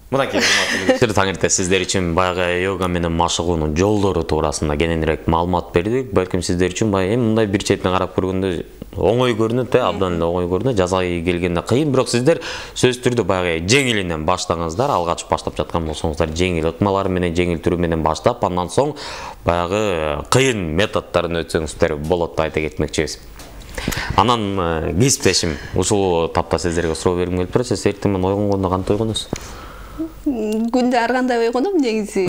Мынакей урматтуу таң эрте сиздер үчүн баягы йога менен машыгуунун жолдору туурасында кененирээк маалымат бердик. Балким сиздер үчүн баягы мындай бир четинен карап көргөндө оңой көрүнөт, абдан эле оңой көрүнөт. Жазаай келгенде кыйын, бирок сиздер сөзсүз түрдө баягы жеңилинен баштаңыздар. Алгач баштап жаткан болсоңуздар жеңил ыкмалар менен, жеңил түрү менен баштап, андан соң баягы кыйын методдорун өтсөңүздөр болот деп айта кетмекчибиз. Анан кесиптешим ушул тапта сиздерге суроо бергим келип турат. Сиз эртең менен ойгонгондо кантип ойгоносуз? Күндө ар кандай ойгоном негизи.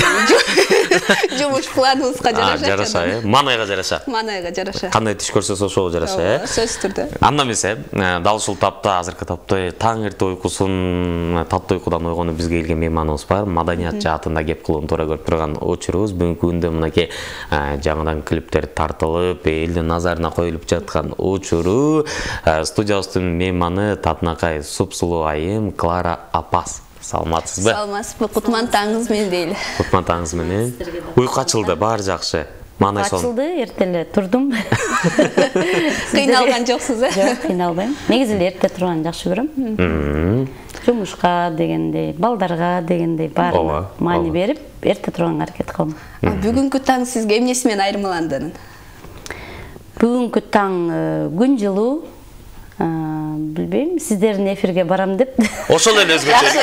Жумуш планыбызга жараша. Жараша, манайга жараша. Манайга жараша. Кандай түш көрсөз ошого жараша, Сөзсүз түрдө. Анда эмесе, дал ушул тапта, азыркы тапта таң эрте уйкусун, татты уйкудан ойгонуп бизге келген мейманыбыз бар. Маданият жаатында кеп кылууну туура көрүп турган учурубуз. Бүгүнкү күндө мынакей жаңыдан клиптер тартылып, элдин назарына коюлуп жаткан учуру студиябыздын мейманы татынакай супсулуу айым Клара Апас. Саламатсызбы? Саламатсызбы? Кутман таңыңыз менен дейли. Кутман таңыңыз менен. Уйку ачылды, баары жакшы. Маанай сон. Ачылды, эрте эле турдум. Кыйналган жоксуз, Жок, кыйналбайм. Негизи эле эрте турганды жакшы көрөм. Жумушка дегендей, балдарга дегендей баары маани берип, эрте турганга аракет кылам. Бүгүнкү таң сизге эмнеси менен айырмаланды? Бүгүнкү таң күн жылуу. Билбейм, сиздердин эфирге барам деп. Ошол эле өзгөчө.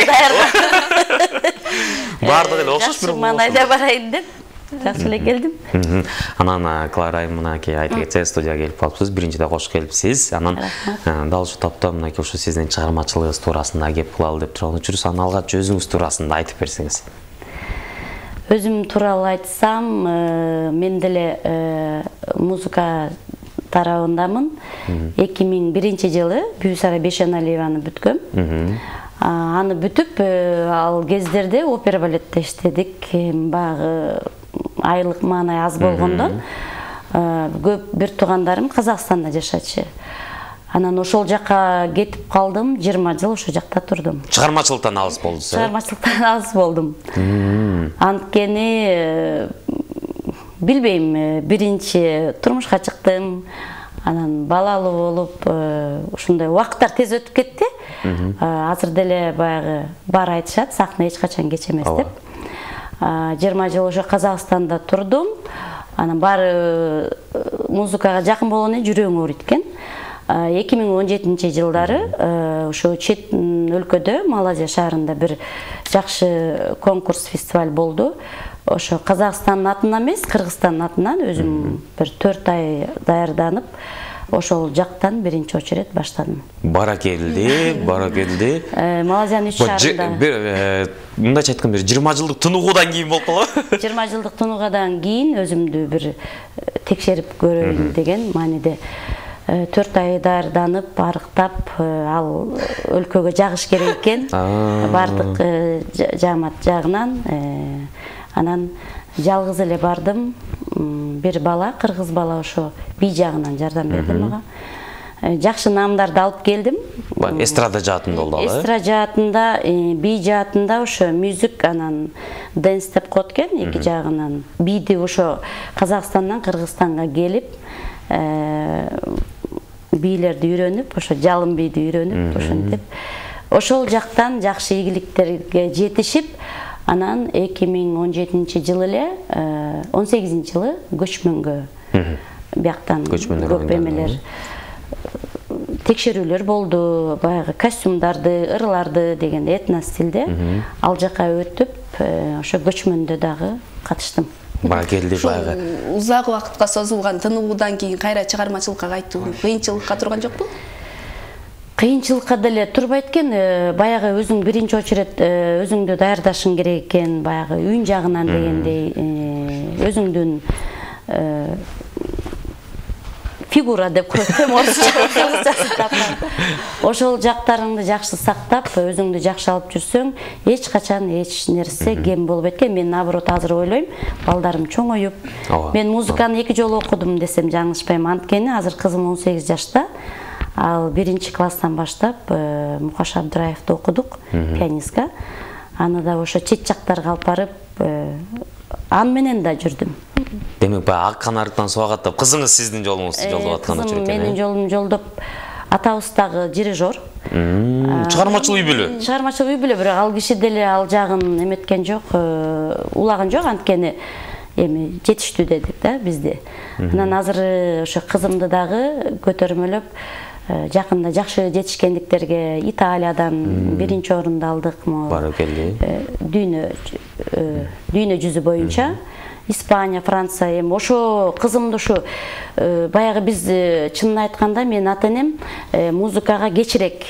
Баардыгы эле окшош, бирок манайда барайын деп. Жакшы эле келдим. Анан Клара айым мынакей айта кетсе студияга келип калыпсыз. Биринчиде кош келипсиз. Анан дал ушул тапта мынакей ушу сиздин чыгармачылыгыңыз туурасында кеп кылалы деп турган учурубуз. Анан алгач өзүңүз туурасында айтып берсеңиз. Өзүм тууралуу айтсам, мен деле музыка тарабындамын. 2001 жылы Бүйсара Бешеналиеваны бүткөм. Аны бүтүп, ал кездерде опера балетте иштедик. Багы айлык маанай аз болгондон, көп бир туугандарым Казакстанда жашачы. Анан ошол жака кетип калдым, 20 жыл ошол жакта турдум. Чыгармачылыктан алыс болдуз, Чыгармачылыктан алыс болдум. Анткени билбейм, биринчи турмушка чыктым, анан балалуу болуп, ушундай убакыттар тез өтүп кетти. Азыр деле баягы бар айтышат, сахна эч качан кеч эмес деп. 20 жыл ошо Казакстанда турдум. Анан баары музыкага жакын болгону жүрөгүм ооруйт экен. 2017 жылдары ошо чет өлкөдө, Малайзия шаарында бир жакшы конкурс, фестиваль болду. Ошо Казакстандын атынан эмес, Кыргызстандын атынан өзүм бир 4 ай даярданып, ошол жактан биринчи очерет баштадым. Баракелди. Малайзиянын 3 шаарында. Мындайча айтканда 20 жылдык тынугудан кийин болуп калабы? 20 жылдык тынугудан кийин өзүмдү бир текшерип көрөйүн деген мааниде 4 ай даярданып, арыктап, ал өлкөгө жагыш керек экен. Бардык жаамат жагынан. Анан жалгыз эле бардым. Бир бала, кыргыз бала ошо бий жагынан жардам берди мага. Жакшы наамдарды алып келдим. Эстрада жаатында болду ал, Эстрада жаатында, бий жаатында ошо мюзик, анан дэнс деп коет экен, эки жагынан. Бийди ошо Казакстандан Кыргызстанга келип, бийлерди үйрөнүп, ошо жалын бийди үйрөнүп, ошентип. Ошол жактан жакшы ийгиликтерге жетишип, анан 2017 жылы эле, 18 жылы көчмөнгө бияктан көп эмелер, текшерүүлөр болду, баягы костюмдарды, ырларды деген этно стилде ал жака өтүп, ошо көчмөндө дагы катыштым. Баракелди баягы. Узак убакытка созулган тынугудан кийин кайра чыгармачылыкка кайтуу кыйынчылыкка турган жокпу? Кыйынчылыкка деле турбайт экен, баягы өзүң биринчи очерет өзүңдү даярдашың керек экен, баягы үйүн жагынан дегендей, өзүңдүн фигура деп коет, орусча. Ошол жактарыңды жакшы сактап, өзүңдү жакшы алып жүрсөң, эч качан эч нерсе кем болбойт экен. Мен наоборот азыр ойлойм, балдарым чоңоюп, мен музыканы 2 жолу окудум десем жаңылышпайм. Анткени азыр кызым 18 жашта. Ал 1-класстан баштап Мукаш Абдыраевди окудук, пианистка. Аны да ошо чет жактарга алып барып, ан менен да жүрдүм. Демек, ак канарыктан суга каттап, кызыңыз сиздин жолуңузду жолдоп аткан учур экен. Менин жолумду жолдоп атабыз дагы дирижер. Чыгармачыл үй бүлө. Чыгармачыл үй бүлө, бирок ал киши деле ал жагын эметкен жок, улаган жок, анткени эми жетиштүү дедик да бизде. Анан азыр ошо кызымды дагы көтөрмөлөп жакында жакшы жетишкендиктерге Италиядан биринчи орунду алдык. Баракелли. Дүйнө жүзү боюнча Испания, Франция, эми ошо кызымды ушу баягы биз чынын айтканда мен ата-энем музыкага кечирээк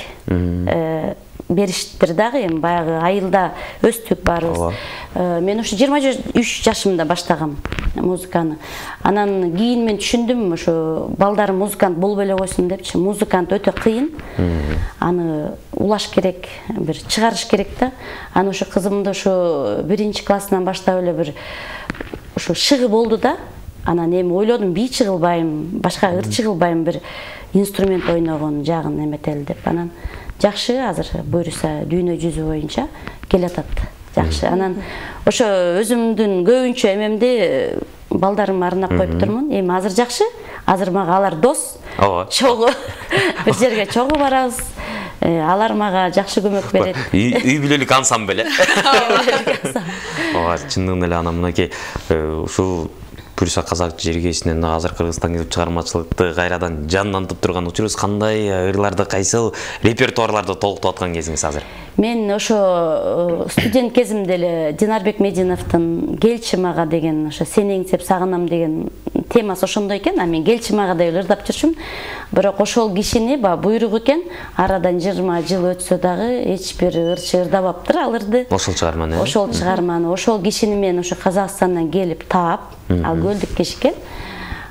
бериштир дагы, эми баягы айылда өстүк баарыбыз. Мен ушу 23 жашымда баштагам музыканы. Анан кийин мен түшүндүм, ошо балдарым музыкант болбой эле койсун депчи. Музыкант өтө кыйын. Аны улаш керек, бир чыгарыш керек да. Аны ошо кызымды ошо 1-классынан баштап эле бир ошо шыгы болду да. Анан эми ойлодум, бий чыгылбайм, башка ыр чыгылбайм, бир инструмент ойногон жагын эметели деп. Анан жакшы, азыр буюрса дүйнө жүзү боюнча келатат. Жакшы. Анан ошо өзүмдүн көбүнчө эмемди балдарыма арнап коюп турмун. Эми азыр жакшы. Азыр мага алар дос. Чогуу бир жерге чогуу барабыз. Алар мага жакшы көмөк берет. Үй бүлөлүк ансамбль. Ооба, чындыгында эле анан мынакей ушул буюрса казак жергесинен азыр Кыргызстанга келип чыгармачылыкты кайрадан жандантып турган учурубуз кандай, ырларды кайсыл репертуарларды толуктуп аткан кезиңиз азыр? Мен ошо студент кезимде эле Динарбек Мединовдун Келчи мага деген ошо сени эңсеп сагынам деген темасы ошондой экен. А мен Келчи мага деп ырдап жүрчүм. Бирок ошол кишини буйругу экен, арадан 20 жыл өтсө дагы эч бир ырчы ырдабаптыр ал ырды. Ошол чыгарманы. Ошол чыгарманы, ошол кишини мен ошо Казакстандан келип таап, ал көлдүк киши экен.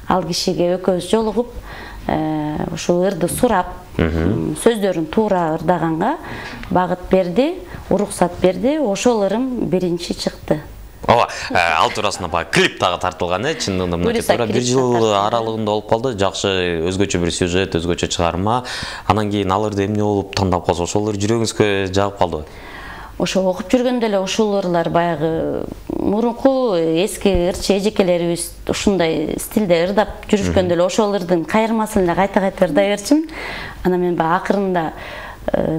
Ал кишиге экөөбүз жолугуп, ошо ырды сурап, сөздөрүн туура ырдаганга багыт берди, уруксат берди. Ошол ырым биринчи чыкты. Ооба, ал туурасында баягы клип дагы тартылган, чындыгында мынакей туура 1 жыл аралыгында болуп калды. Жакшы, өзгөчө бир сюжет, өзгөчө чыгарма. Анан кийин ал ырды эмне болуп тандап калса, ошол ыр жүрөгүңүзгө жагып калдыбы? Ошо окуп жүргөндө эле ушул ырлар баягы мурунку эски ырчы эжекелерибиз ушундай стилде ырдап жүрүшкөндө эле ошол ырдын кайырмасын эле кайта-кайта ырдай берчүмүн. Анан мен баягы акырында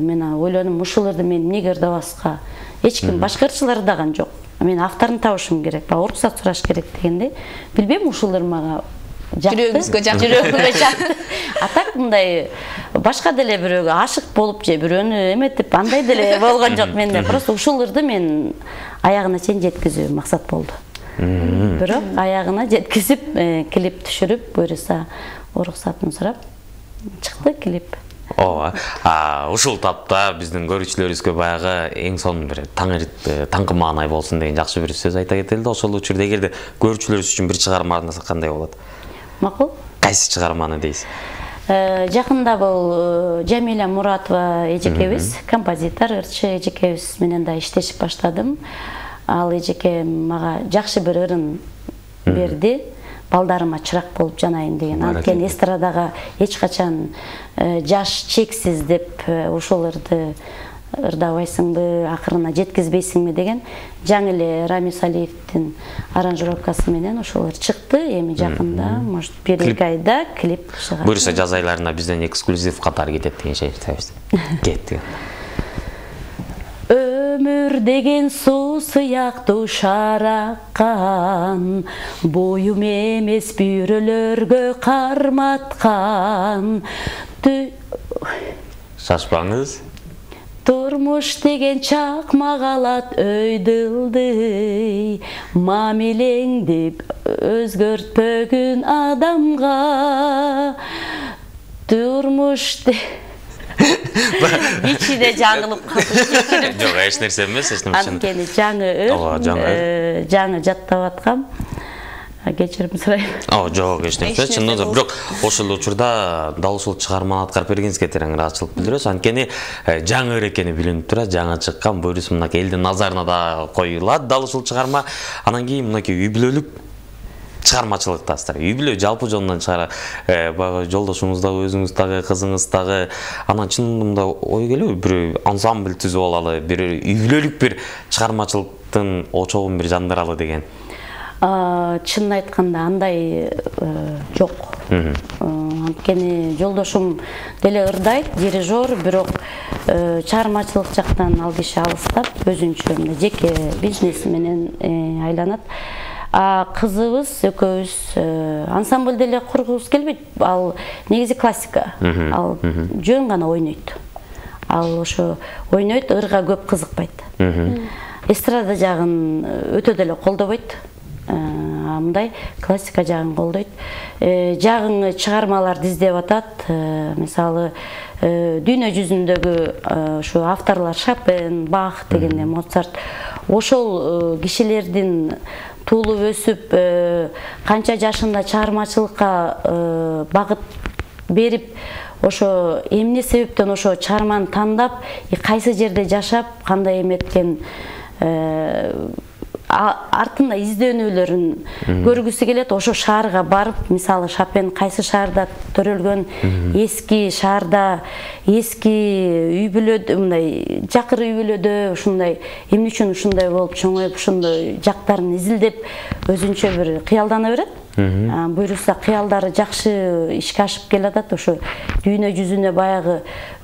мен ойлодум, ушул ырды мен эмнеге ырдабаска? Эч ким башка ырчылар ырдаган жок. Мен авторун табышым керек, уруксат сураш керек дегенде, билбейм, ушул ыр мага жүрөгүңүзгө жакты. Жүрөгүмгө жакты. А так мындай башка деле бирөөгө ашык болуп же бирөөнү эметип андай деле болгон жок менде. Просто ушул ырды мен аягына чейин жеткизүү максат болду. Бирок аягына жеткизип, клип түшүрүп, буюрса уруксатын сурап чыкты клип. Ооба. Ушул тапта биздин көрүүчүлөрүбүзгө баягы эң сонун бир таңкы маанай болсун деген жакшы бир сөз айта кетели да. Ошол учурда эгерде көрүүчүлөрүбүз үчүн бир чыгарма арнаса кандай болот? Макул. Кайсы чыгарманы дейсиз? Жакында бул Жамиля Муратова эжекебиз, композитор, ырчы эжекебиз менен да иштешип баштадым. Ал эжеке мага жакшы бир ырын берди. Балдарыма чырак болуп жанайын деген. Анткени эстрадага эч качан жаш чексиз деп ушул ырды ырдабайсыңбы, акырына жеткизбейсиңби деген жаңы эле Рамис Алиевдин аранжировкасы менен ошол ыр чыкты. Эми жакында, может, 1-2 айда клип чыгат. Буюрса жаз айларында бизден эксклюзив катары кетет деген шештебиз. Кетти. Өмүр деген суу сыяктуу шараккан, боюм эмес бүйрөлөргө карматкан. Шашпаңыз. Турмуш деген чакмак алат өйдүлдүй, мамилеңди өзгөртпөгүн адамга. Турмуш ичиде жаңылып калды. Жок, эч нерсе эмес, эч нерсе. Анткени жаңы жаттап аткам. Кечирим сурайм. Жок, эч нерсе. Чындыгында бирок ошол учурда дал ушул чыгарманы аткарып бергениңизге терең ыраазычылык билдиребиз. Анткени жаңы ыр экени билинип турат, жаңы чыккан, буюрса мынакей элдин назарына да коюлат дал ушул чыгарма. Анан кийин мынакей үй бүлөлүк чыгармачылыктасыздар. Үй бүлө жалпы жонунан чыгара, баягы жолдошуңуз дагы, өзүңүз дагы, кызыңыз дагы. Анан чынында ой келеби, бир ансамбль түзүп алалы, бир үй бүлөлүк бир чыгармачылыктын очогун бир жандыралы деген. Чынын айтканда андай жок. Анткени жолдошум деле ырдайт, дирижер, бирок чыгармачылык жактан ал киши алыстап, өзүнчө жеке бизнес менен айланат. Кызыбыз экөөбүз ансамбль деле кургубуз келбейт. Ал негизи классика. Ал жөн гана ойнойт. Ал ошо ойнойт, ырга көп кызыкпайт. Эстрада жагын өтө деле колдобойт. Мындай классика жагын колдойт. Жагыңы чыгармаларды издеп атат. Мисалы, дүйнө жүзүндөгү ушу авторлор Шопен, Бах дегенде, Моцарт, ошол кишилердин туулуп өсүп, канча жашында чыгармачылыкка багыт берип, ошо эмне себептен ошо чыгарманы тандап, кайсы жерде жашап, кандай эметкен артында изденүүлөрүн көргүсү келет. Ошо шаарга барып, мисалы Шопен кайсы шаарда төрөлгөн, эски шаарда, эски үй бүлөдө, мындай жакыр үй бүлөдө ушундай эмне үчүн ушундай болуп чоңоюп, ушундай жактарын изилдеп өзүнчө бир кыялдана берет. Буюрса кыялдары жакшы ишке ашып келатат. Ошо дүйнө жүзүнө баягы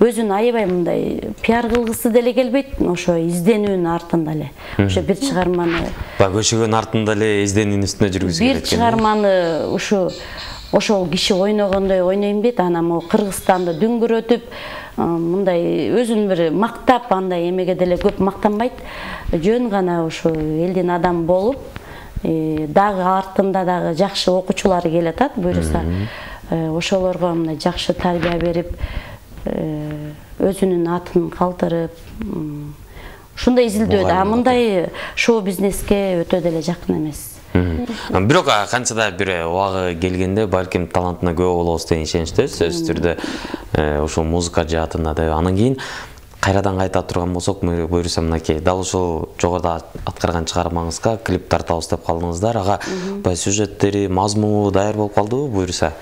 өзүн аябай мындай пиар кылгысы деле келбейт. Ошо изденүүнүн артында эле. Ошо бир чыгарманы көчөгөн артында эле изденүүнүн үстүнө жүргүзүп келет. Бир чыгарманы ошол киши ойногондой ойнойм дейт. Анан могу Кыргызстанды дүңгүрөтүп, мындай өзүн бир мактап, андай эмеге деле көп мактанбайт. Жөн гана ошо элдин адамы болуп, дагы артында дагы жакшы окуучулары келатат. Буюрса ошолорго мындай жакшы тарбия берип, өзүнүн атын калтырып, ушундай изилдөөдө. Мындай шоу бизнеске өтө деле жакын эмес. Бирок канчада бир убагы келгенде балким талантына күбө болобуз деген ишеничтебиз. Сөзсүз түрдө ошол музыка жаатында да. Анан кийин кайрадан кайта турган болсок, буюрса мынакей дал ушул жогоруда аткарган чыгармаңызга клип тартабыз деп калдыңыздар. Ага баягы сюжеттери, мазмуну даяр болуп калдыбы буюрса?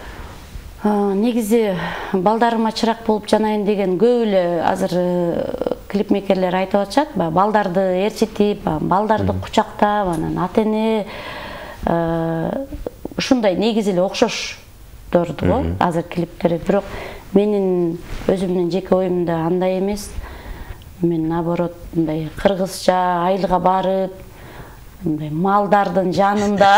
Негизи балдарыма чырак болуп жанайын деген көп эле азыр клипмейкерлер айтып атышат. Балдарды ээрчитип, балдарды кучактап, анан ата-эне ушундай негизи эле окшоштурду го азыр клиптери. Бирок менин өзүмдүн жеке оюмда андай эмес. Мен наоборот мындай кыргызча айылга барып, мындай малдардын жанында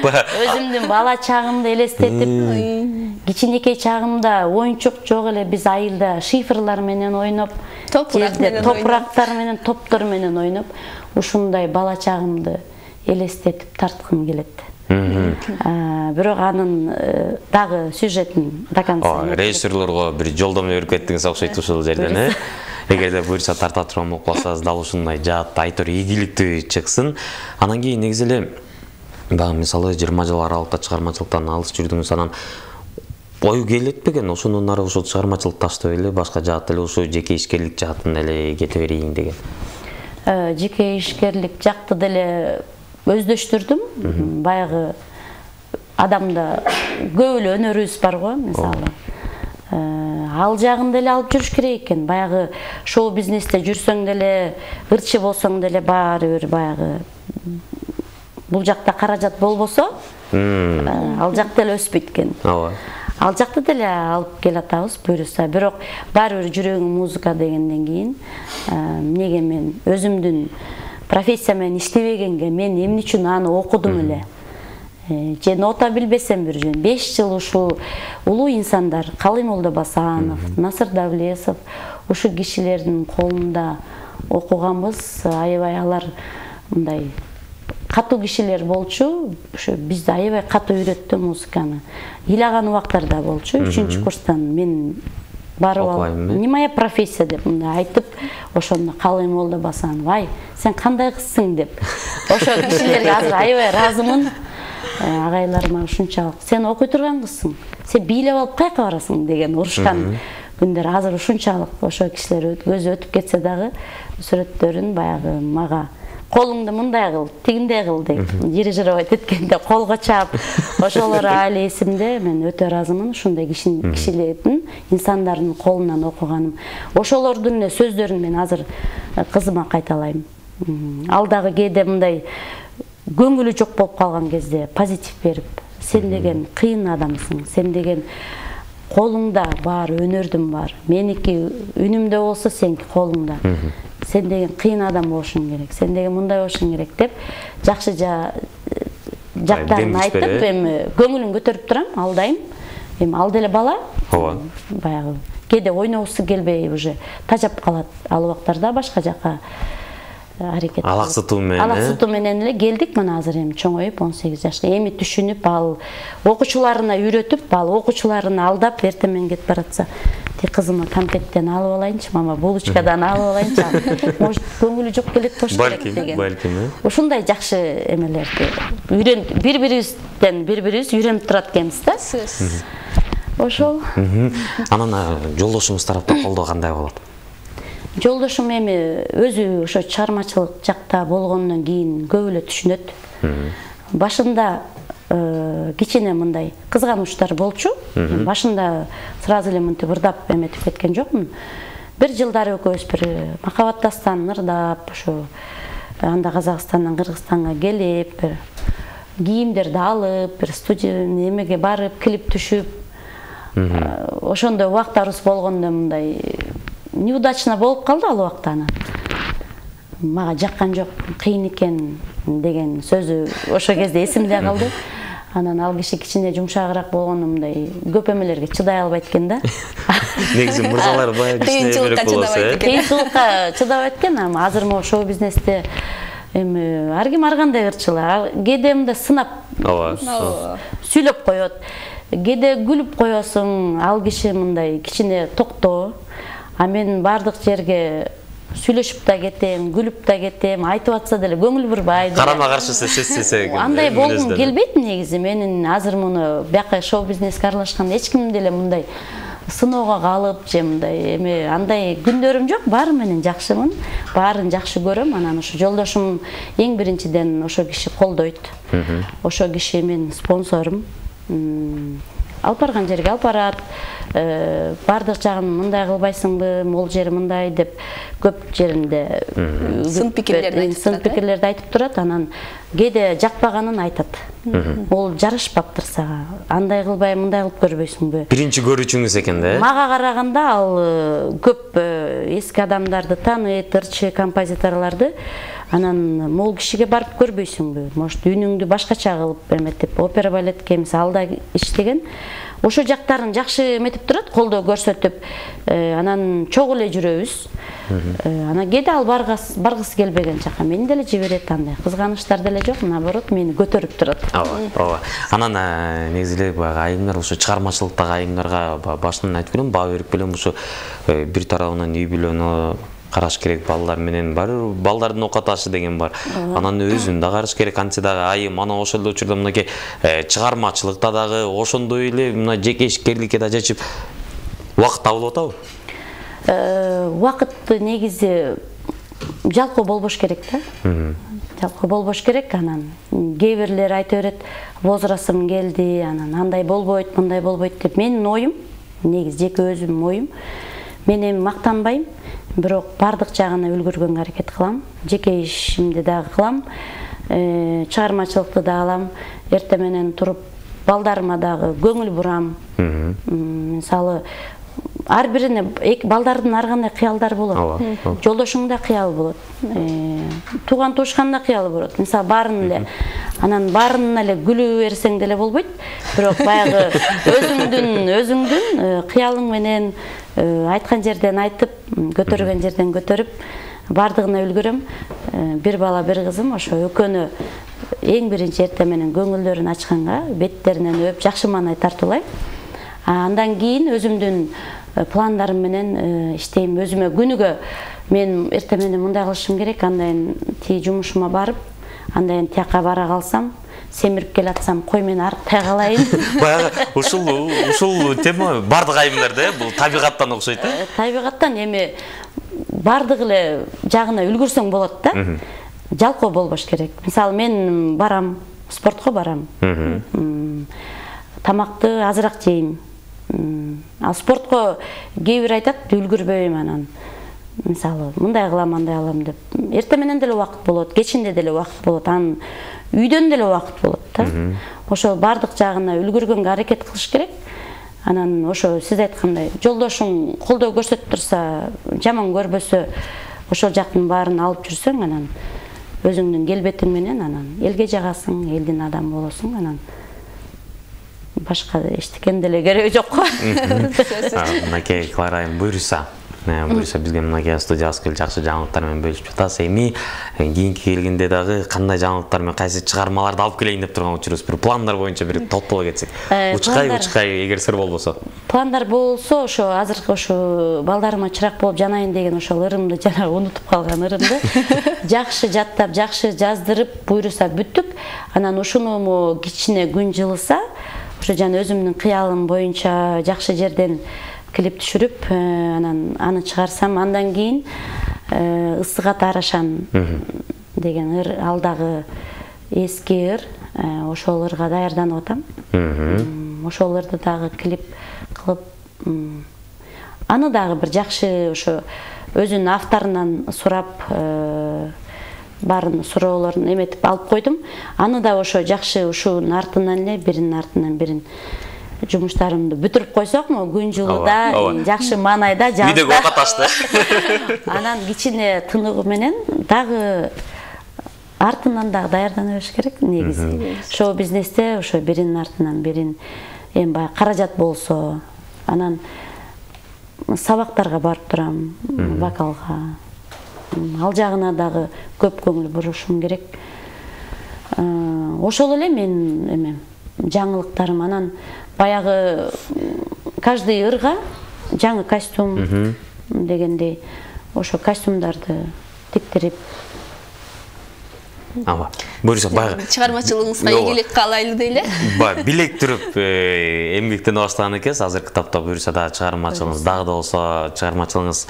өзүмдүн бала чагымды элестетип, кичинекей чагымда оюнчук жок эле, биз айылда шифрлар менен ойноп, топурактар менен, топтор менен ойноп, ушундай бала чагымды элестетип тарткым келет. Бирок анын дагы сюжетин до конца режиссерлорго бир жолдомо берип кеттиңиз окшойт ушул жерден, Эгерде буюрса тарта турган болуп калсаңыз, дал ушундай жаат айтор ийгиликтүү чыксын. Анан кийин негизи эле баягы мисалы 20 жыл аралыкта чыгармачылыктан алыс жүрдүңүз, анан ою келетпеген ошондон ары ошол чыгармачылык таштап эле башка жаат эле ушул жеке ишкерлик жаатын эле кете берейин деген? Жеке ишкерлик жакты деле өздөштүрдүм. Баягы адамда көп эле өнөрүбүз бар го, мисалы. Ал жагын деле алып жүрүш керек экен. Баягы шоу бизнесте жүрсөң деле, ырчы болсоң деле баары бир баягы бул жакта каражат болбосо, ал жакта эле өспөйт экен. Ал жакты деле алып келатабыз буюрса. Бирок баары бир жүрөгүм музыка дегенден кийин, эмнеге мен өзүмдүн профессия менен иштебегенге, мен эмне үчүн аны окудум эле? Же нота билбесем бир жөн 5 жыл ушул улуу инсандар, Калый Молдобасанов, Насыр Давлесов, ушул кишилердин колунда окуганбыз. Аябай алар мындай катуу кишилер болчу. Ошо бизди аябай катуу үйрөттү музыканы. Ыйлаган убактарда болчу. 3-курстан мен барып алып, "Не моя профессия" деп мындай айтып, ошондо Калый Молдобасанов, "Ай, сен кандай кызсың" деп. Ошо кишилерге азыр аябай ыраазымын. Агайларыма ушунчалык, "Сен окуй турган кызсың, сен бийлеп алып каяка барасың" деген урушкан күндөр азыр ушунчалык. Ошо кишилер көзү өтүп кетсе дагы сүрөттөрүн баягы мага "Колуңду мындай кыл, тигиндей кыл" деп дирижировать эткенде колго чаап, ошолор али эсимде. Мен өтө ыраазымын ушундай кишилердин, инсандардын колунан окуганым. Ошолордун эле сөздөрүн мен азыр кызыма кайталайм. Ал дагы кээде мындай көңүлү жок болуп калган кезде позитив берип, сен деген кыйын адамсың, сен деген колуңда бар, өнөрдүн бар. Меники үнүмдө болсо сеники колуңда. Сен деген кыйын адам болушуң керек, сен деген мындай болушуң керек деп жакшы жактарын айтып, эми көңүлүн көтөрүп турам, алдайм. Эми ал деле бала. Баягы кээде ойногусу келбей уже тажап калат. Ал убактарда башка жакка аракет. Алаксытуу менен эле келдик, мына азыр эми чоңоюп 18 жашка. Эми түшүнүп, ал окуучуларына үйрөтүп, ал окуучуларын алдап эртемен кетип баратса, тек кызыма конфеттен алып алайынчы, мама булочкадан алып алайынчы. Может, көңүлү жок келет болуш керек деген. Балким. Ушундай жакшы эмелерди бири-бирибизден бири-бирибиз үйрөнүп турат экенбиз да. Ошол. Анан жолдошуңуз тараптан колдоо кандай болот? Жолдошум эми өзү ошо чыгармачылык жакта болгондон кийин көп эле түшүнөт. Башында кичине мындай кызганычтар болчу. Башында сразу эле мынтип ырдап эметип кеткен жокмун. Бир жылдары экөөбүз бир махабаттастан ырдап, ошо анда Казакстандан Кыргызстанга келип, бир кийимдерди алып, бир студия немеге барып, клип түшүп, ошондой убактарыбыз болгондо мындай неудачно болуп калды ал убакта. Мага жаккан жок, кыйын экен деген сөзү ошол кезде эсимде калды. Анан ал киши кичине жумшагыраак болгондо мындай көп эмелерге чыдай албайт экен да. Негизи мырзалар баягы кыйынчылыкка чыдабайт экен. Кыйынчылыкка чыдабайт экен, ама азыр могу шоу бизнесте эми ар ким ар кандай ырчылар. Кээде мындай сынап сүйлөп коет. Кээде күлүп коесуң, ал киши мындай кичине токтоо. А мен бардык жерге сүйлөшүп да кетем, күлүп да кетем, айтып атса деле көңүл бурбай. Карама каршысы сессе. Андай болгум келбейт негизи. Менин азыр муну бияка шоу бизнеске аралашкан эч ким деле мындай сыноого калып же мындай эми андай күндөрүм жок. Баары менен жакшымын, баарын жакшы көрөм. Анан ошо жолдошум эң биринчиден ошо киши колдойт. Ошо киши менин спонсорум. Алып барган жерге алып барат. Бардык жагын мындай кылбайсыңбы, могул жери мындай деп көп жеринде сын пикирлерди айтып турат. Анан кээде жакпаганын айтат. Ол жарашпаптыр сага. Андай кылбай, мындай кылып көрбөйсүңбү? Биринчи көрүүчүңүз экен да? Мага караганда ал көп эски адамдарды тааныйт, ырчы композиторлорду. Анан могул кишиге барып көрбөйсүңбү? Может, үнүңдү башкача кылып эметип, опера балетке мисалы алда иштеген. Ошо жактарын жакшы эметип турат, колдоо көрсөтүп, анан чогуу эле жүрөбүз. Анан кээде ал баргысы келбеген жака мени деле жиберет, андай кызганычтар деле жок, наоборот мени көтөрүп турат. Ооба. Анан негизи эле баягы айымдар ошо чыгармачылыктагы айымдарга башынан айтып берем, баа берип келем, ошо бир тарабынан үй бүлөнү караш керек, балдар менен бар, балдардын окаташы деген бар. Анан өзүн да караш керек, антсе дагы айым ана ошол эле учурда мынакей чыгармачылыкта дагы ошондой эле мына жеке ишкерликке да жачып убакыт табылып атабы? Убакыт негизи жалкоо болбош керек да. Жалкоо болбош керек. Анан кээ бирлер айта берет, возрастым келди, анан андай болбойт, мындай болбойт деп. Менин оюм, негизи жеке өзүмдүн оюм. Мен эми мактанбайм. Бирок бардык жагына үлгүргөнгө аракет кылам. Жеке ишимди дагы кылам. Чыгармачылыкты да алам. Эрте менен туруп балдарыма дагы көңүл бурам. Мисалы ар бирине балдардын ар кандай кыялдары болот. Жолдошуңда кыял болот. Тууган туушканда кыялы болот. Мисалы баарын эле анан баарына эле күлүү берсең деле болбойт. Бирок баягы өзүңдүн кыялың менен айткан жерден айтып, көтөргөн жерден көтөрүп, бардыгына үлгүрөм. Бир бала, бир кызым, ошо экөөнү эң биринчи эрте менен көңүлдөрүн ачканга беттеринен өп жакшы маанай тартуулайм. Андан кийин өзүмдүн пландарым менен иштейм. Өзүмө күнүгө мен эрте менен мындай кылышым керек, андайын тиги жумушума барып, андайын тияка бара калсам, семирип келатсам, кой мен арыктай калайын. Баягы ушул тема бардык айымдарда, бул табигаттан окшойт да? Табигаттан эми бардык эле жагына үлгүрсөң болот да. Жалкоо болбош керек. Мисалы мен барам, спортко барам. Тамакты азыраак жейм. Ал спортко кээ бир айтат, үлгүрбөйм анан. мисалы мындай кылам андай кылам деп эртең менен деле убакыт болот, кечинде деле убакыт болот, анын үйдөн деле убакыт болот да. Ошол бардык жагына үлгүргөнгө аракет кылыш керек. Анан ошо сиз айткандай жолдошуң колдоо көрсөтүп турса, жаман көрбөсө, ошол жактын баарын алып жүрсөң, анан өзүңдүн келбетиң менен анан элге жагасың, элдин адамы болосуң, анан башка эчтекенин деле кереги жок го. Мынакей Клара айым буйруса бизге мынакей студияга келип жакшы жаңылыктар менен бөлүшүп жатасыз. Эми кийинки келгенде дагы кандай жаңылыктар менен кайсы чыгармаларды алып келейин деп турган учурубуз, бир пландар боюнча бир топтоло кетсек. Учкай эгер сыр болбосо. Пландар болсо, ошо азыркы ошо балдарыма чырак болуп жанайын деген ошол ырымды жана унутуп калган ырымды жакшы жаттап, жакшы жаздырып, буйруса бүттүк. Анан ушуну кичине күн жылыса, ошо жана өзүмдүн кыялым боюнча жакшы жерден клип түшүрүп, анан аны чыгарсам, андан кийин Ысык ат Арашан деген ыр, ал дагы эски ыр, ошол ырга даярданып атам. Ошол ырды дагы клип кылып, аны дагы бир жакшы ошо өзүнүн авторунан сурап, баарын суроолорун эметип алып койдум. Аны да ошо жакшы ушунун артынан эле биринин артынан бирин жумуштарымды бүтүрүп койсок, күн жылыда жакшы маанайда жазда. Үйдөгү оокат ашты. Анан кичине тыныгы менен дагы артынан дагы даярдана бериш керек негизи. Шоу бизнесте ошо биринин артынан бирин эми баягы каражат болсо, анан сабактарга барып турам, вокалга. Ал жагына дагы көп көңүл бурушум керек. Ошол эле менин эмем, жаңылыктарым. Анан баягы каждый ырга жаңы костюм дегендей, ошо костюмдарды тиктирип. Буюрса баягы чыгармачылыгыңызга ийгилик каалайлы дейле. Билек туруп эмгектене баштаган экенсиз. Азыркы тапта буюрса да чыгармачылыгыңыз дагы да болсо чыгармачылыгыңыз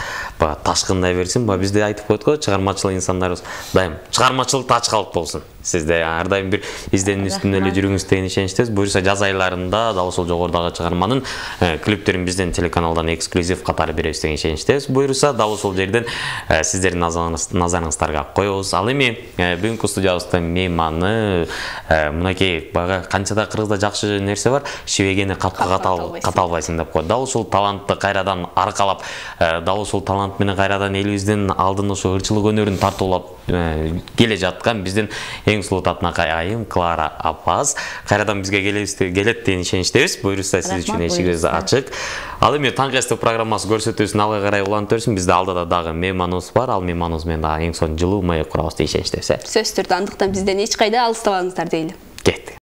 ташкындай берсин. Бизде айтып койдук го, чыгармачыл инсандарыбыз дайым чыгармачылыкта ачкалык болсун. Сизде ар дайым бир изденүү үстүндө эле жүрүңүз деген ишеничтебиз. Буюрса жаз айларында дал ошол жогорудагы чыгарманын клиптерин бизден телеканалдан эксклюзив катары беребиз деген ишеничтебиз. Буюрса дал ошол жерден сиздердин назарыңыздарга коебуз. Ал эми бүгүнкү студиябызда мейманы мынакей баягы канчада кыргызда жакшы нерсе бар, шибегени капка каталбайсың деп коет. Дал ушул талантты кайрадан аркалап, дал ушул талант менен кайрадан элибиздин алдын ошо ырчылык өнөрүн тартуулап келе жаткан биздин эң сулуу татынакай айым Клара апабыз кайрадан бизге келет деген ишеничтебиз. Буюрса сиз үчүн эшигибиз ачык. Ал эми Таңкы СТ программасы көрсөтүүсүн алга карай улантып берсин. Бизде алдыда дагы мейманыбыз бар. Ал мейманыбыз менен дагы эң сонун жылуу маек курабыз деген ишеничтебиз. Сөзсүз түрдө, андыктан бизден эч кайда алыстабаңыздар дейли.